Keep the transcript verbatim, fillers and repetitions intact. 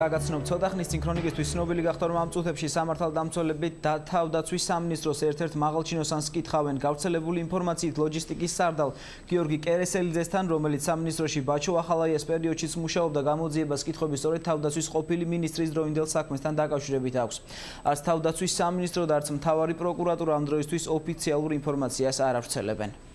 Გაგაცნობ ცოტა ხნის წინ ქრონიკისთვის ცნობილი გახდა, რომ ამ წუთებში სამართალდამცველები თავდაცვის სამინისტროს ერთ-ერთ მაღალჩინოსანს კითხავენ გავრცელებული ინფორმაციით ლოჯისტიკის სარდალ გიორგი კერესელიძესთან, რომელიც სამინისტროში ბაჩო ახალაიას პერიოდშიც მუშაობდა, გამოძიებას კითხვები სწორედ თავდაცვის ყოფილი მინისტრის დროინდელ საქმესთან დაკავშირებით აქვს. Არც თავდაცვის სამინისტრო და არც მთავარი პროკურატურა ამ დროისთვის ოფიციალურ ინფორმაციას არ ავრცელებენ.